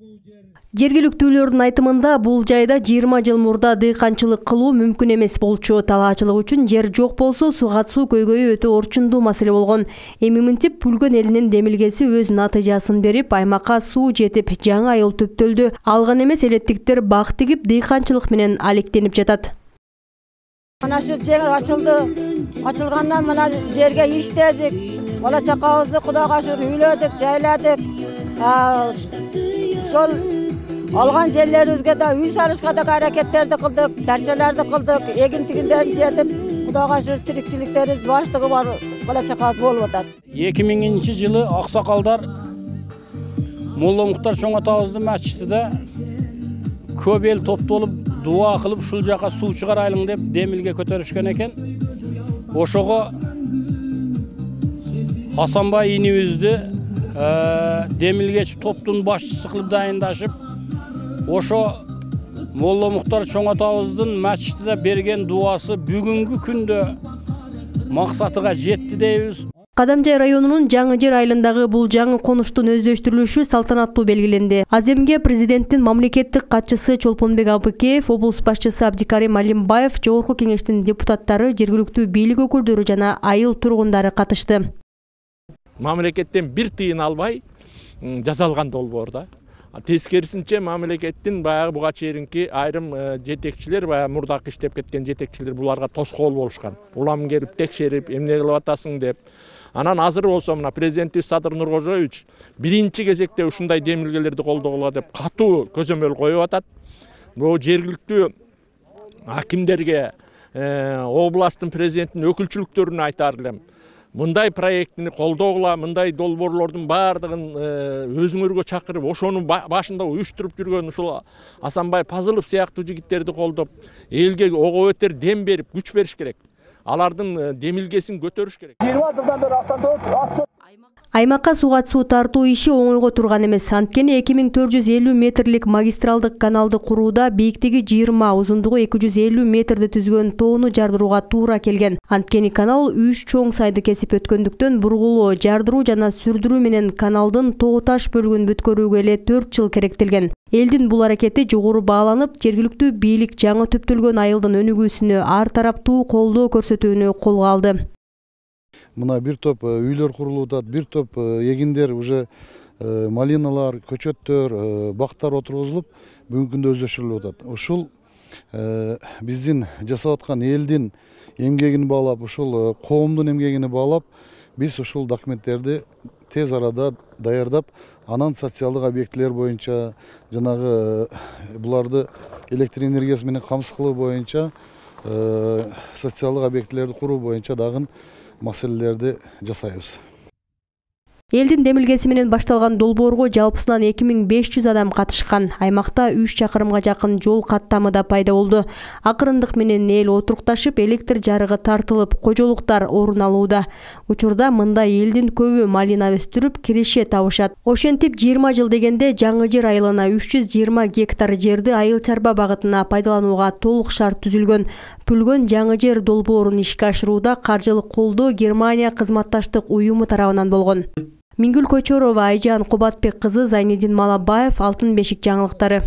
Жергиликтүүлөрдүн айтымында бул жайда 20 жыл мурда дыйканчылык кылуу мүмкүн эмес болчу. Талаачылык үчүн жер жок болсо суу көйгөйү өтө орчундуу маселе болгон. Эми мынтип Пүлгөн элинин демилгеси өз натыйжасын берип, аймакка суу жетип, жаңы айыл төптөлдү. Алган эмес элеттиктер бак тигип, дыйканчылык менен алектенип жатат. Mana şu жер açıldı. Açılgandan mana жерге иштедик. Бала чакабызды Кудайга шүкүр үйлөдүк, жайладык. Сол алган жерлерибизге да үй салышка да аракеттерди кылдык, дарчаларды кылдык, эгин тигиндерин жетип, Кудайга шүкүр тирикчиликтерибиз баштыгы бар, бала чакабыз болуп атат. 2000-жылы аксакалдар Молла Муктар чоң атабыздын мачитиде көп эл топтолуп дуа кылып ушул жака суу чыгарайлык деп демилге көтөрүшкөн экен. Ошого Асанбай инибизди демилгечи топтун башчысы кылып дайындашып, ошо Молла Муктар чоң атабыздын мачитиде берген дуасы бүгүнкү күндө максатыга жетти дейбиз. Кадамжай районунун Жаңы Жер айылындагы бул жаңы конуштун өздөштүрүлүшү салтанаттуу белгиленди. Аземге президенттин мамлекеттик катчысы Чолпонбек Абыкеев, облус башчысы Абдикарим Алимбаев, Жогорку кеңештин депутаттары, жергиликтүү бийлик өкүлдөрү жана айыл тургундары катышты. Мамлекеттен бир тыйын албай жасалган долбоор да. Тескерисинче мамлекеттин баягы буга чейинки айрым жетекчилер, баягы мурдакы иштеп кеткен жетекчилер буларга тоскоол болушкан. Улам келип текшерип, эмне кылып атасың деп. Анан азыр болсо мына президентибиз Садыр Нуркожоевич биринчи кезекте ушундай демилгелерди колдогула деп катуу көзөмөл коюп атат. Бул жергиликтүү акимдерге, областтын президентинин өкүлчүлүктөрүнө айтар элем. Мындай проектини колдогула, мындай долбоорлордун баардыгын өзүңөргө чакырып, ошонун башында уюштуруп жүргөн ушул Асанбай Пазылов сыяктуу жигиттерди колдоп, элге ого бетер дем берип, күч бериш керек. Алардын демилгесин көтөрүш керек. 20 жылдан бери автодор Аймакка суга суу тартуу иши оңойго турган эмес. Анткени 2450 метрлик магистралдык каналды курууда бийиктиги 20, узундугу 250 метрди түзгөн тоону жардырууга туура келген. Анткени канал 3 чоң сайды кесип өткөндүктөн бургулоо, жардыруу жана сүрдүрүү менен каналдын тоо таш бөлүгүн бүткөрүүгө эле 4 жыл керектелген. Элдин бул аракети жогору бааланып, жергиликтүү бийлик жаңы төптөлгөн айылдын өнүгүүсүнө ар тараптуу колдоо көрсөтүүнү колго алды. Мына бир топ үйлөр курулуп атат, бир топ эгиндер уже малиналар, көчөттөр, бактар отургузулуп, бүгүнкү күндө өздөштүрүлүп атат. Ушул биздин жасап аткан элдин эмгегин баалап, ушул коомдун эмгегине баалап, биз ушул документтерди тез арада даярдап, анан социалдык объектилер боюнча, жанагы буларды электр энергиясы менен камсыз кылуу боюнча, социалдык объектилерди куруу боюнча дагы маселелерди жасайбыз. Элдин демилгеси менен башталган долбоорго жалпысынан 2500 адам катышкан. Аймакта 3 чакырымга жакын жол каттамы да пайда болду. Акырындык менен эл отурукташып, электр жарыгы тартылып, кожолуктар орун алууда. Учурда мындай элдин көбү малина өстүрүп, киреше табышат. Ошентип 20 жыл дегенде Жаңы Жер айылына 320 гектар жерди айыл чарба багытына пайдаланууга толук шарт түзүлгөн. Пүлгөн Жаңы Жер долбоорун ишке ашырууда каржылык колдоо Германия кызматташтык уюму тарабынан болгон. Мингүл Көчөрова, Айжан Кубатбек кызы, Зайнидин Малабаев, Алтын бешик жаңылыктары.